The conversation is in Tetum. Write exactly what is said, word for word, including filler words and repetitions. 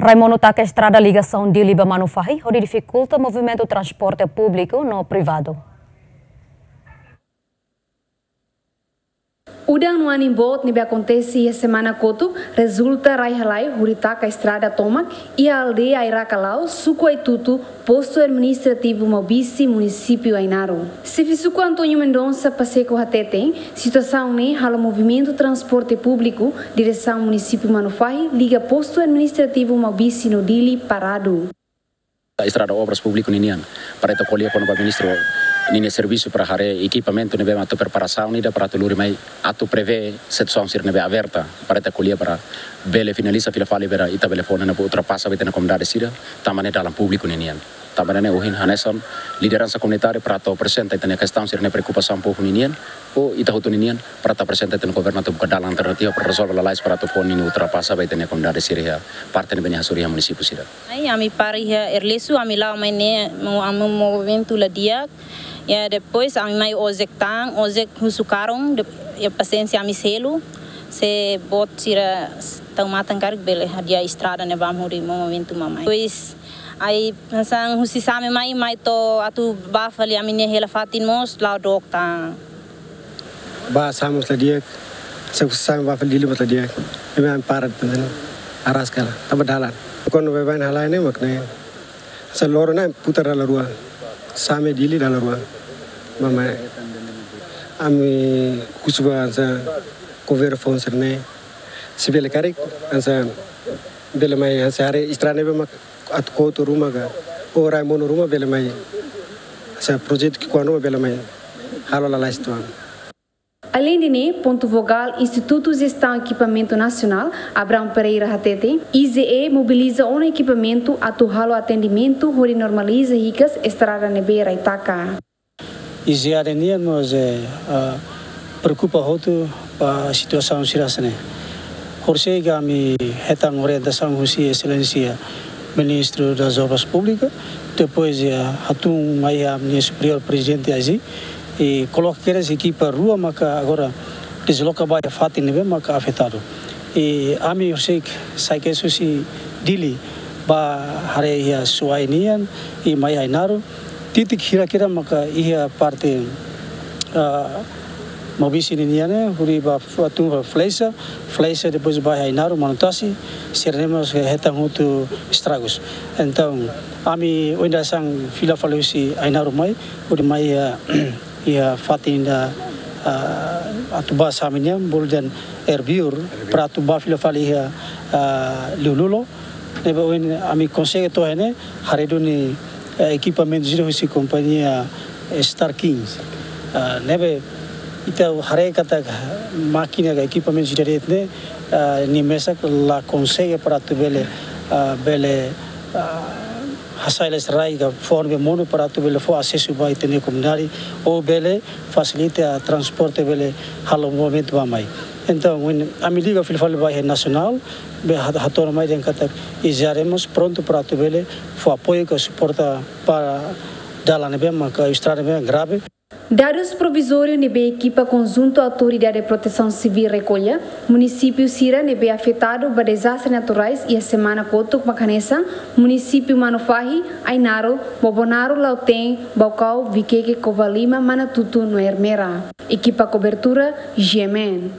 Rai monu taka estrada ligasaun Dili ba Manufahi, hodi difikulta movimentu transporte públiku no privadu. Udan no anin boot ne'ebé akontese iha semana kotuk rezulta rai halai hodi taka estrada tomak iha aldeia Airaka Laos, suku Aitutu, postu administrativu Maubisse, munisípiu Ainaro. Xefe suku António Mendonça Pacheco hateten, situasaun ne'e halo movimentu transporte públiku diresaun munisípiu Manufahi liga postu administrativu Maubisse no Dili paradu. Estrada Obras Públiku ninian, para ita ko'alia kona-ba ministru ninia servisu para haree ekipamentu ne'ebé mak atu preparasaun ida para atu lori mai, atu prevee situasaun sira ne'ebé aberta, para ita ko'alia para bele finaliza fila fali para ita bele fó ona ba ultrapasa ba ita-nia komunidade sira, tanba ne'e dalan públiku ninian. Tanba ne'e ohin hanesan lideransa komunitária para atu aprezenta ita-nia kestaun sira ne'e, preokupasaun povu ninian, ou ita hotu ninian, para atu aprezenta ita-nia governu atu buka dalan alternativa para rezolve lalais para atu fó ninia ultrapasa ba ita-nia komunidade sira iha parte ne'ebé nia hasoru iha munisípiu sira. Ai, ami para iha Erlesu, ami la'o mai ne'e, mo-, ami movimentu la di'ak. Ya, depois ami mai ojek tan, ojek husu karung, de-, ya, pasiénsia ami selu, se boot sira s-, tau matan karik bele hadi'a estrada ne'ebá hodi movimentu mai. Depois, ai, hanesan husi Same mai, mai to'o atu bá fali ami-nia hela fatin mós la'o dook tan. Bá Same mós la di'ak, se husi Same bá fali Dili mós la di'ak. Ami, ami para, tanba ne'e araska la, tanba dalan. Kuandu baibain halai ne'e mak ne'e. Hanesan loron ne'e putar dala rua. Same Dili dala rua. Bá mai. Ami husu ba hanesan governu fó sira-ne'e. Se bele karik, hanesan bele mai hanesan haree estrada ne'ebé mak atu kotu ruma ka, ou rai monu ruma bele mai. Hanesan projetu ki'ikoan ruma bele mai halo lalais tan. Além de ne'e, pontu fokál Institutu Jestaun Ekipamentu Nasionál, Abrão Pereira hateten, I J E mobiliza ona ekipamentu atu halo atendimentu hodi normaliza hikas estrada ne'ebé rai taka. I J E nian mós, eh, ah, preokupa hotu ba situasaun sira hanesan ne'e. Horisehik ami hetan orientasaun husi Exelénsia Ministru das Obras Públikas, depois, eh, hatún mai ami-nia superiór prezidente azi, i koloka kedas ekipa rua maka agora dezloka ba iha fatin ne'ebé maka afetadu. I ami horisehik sai kedas husi Dili bá haree iha Suai nian, i mai Ainaro, titik hirak-hirak maka iha parte, ah, Maubisse ninian ne'e, hodi bá f-, tun ba Flexa, Flexa depois bá Ainaro, Manutasi, sira-ne'e mós hetan hotu estragus. Entaun, ami ohin daudaun fila fali husi Ainaro mai, hodi mai, ah, iha fatin ida, ah, atu bá Same nian, bolu dehan Erbiur, para atu bá fila fali iha, ah, Liululo. Ne'ebé ohin ami konsege to'o iha ne'e, haree duni, eh, ekipamentu sira husi kompañia, eh, Star King. Ah, ne'ebé ita haree katak mákina ka ekipamentu sira de'it ne'e, ah, nia mesak la konsege para atu bele, ah, bele, ah, hasai lalais rai ka fó ne'ebé monu para atu bele fó asesu ba ita-nia komunidade, ou bele fasilita transporte bele halo movimentu bá mai. Entaun, ohin ami liga fila fali ba iha nasionál, be hat-, hato'o ona mai dehan katak I J E mós prontu para atu bele fó apoiu ka suporta para dalan ne'ebé maka estrada ne'ebé grave. Dadus provizóriu ne'ebé ekipa konjuntu Autoridade Protesaun Sivíl rekolla, munisípiu sira ne'ebé afetadu ba dezastre naturais iha semana kotuk mak hanesan munisípiu Manufahi, Ainaro, Bobonaro, Lautém, Baucau, Viqueque, Covalima, Manatuto no Ermera. Ekipa kobertura, G M N.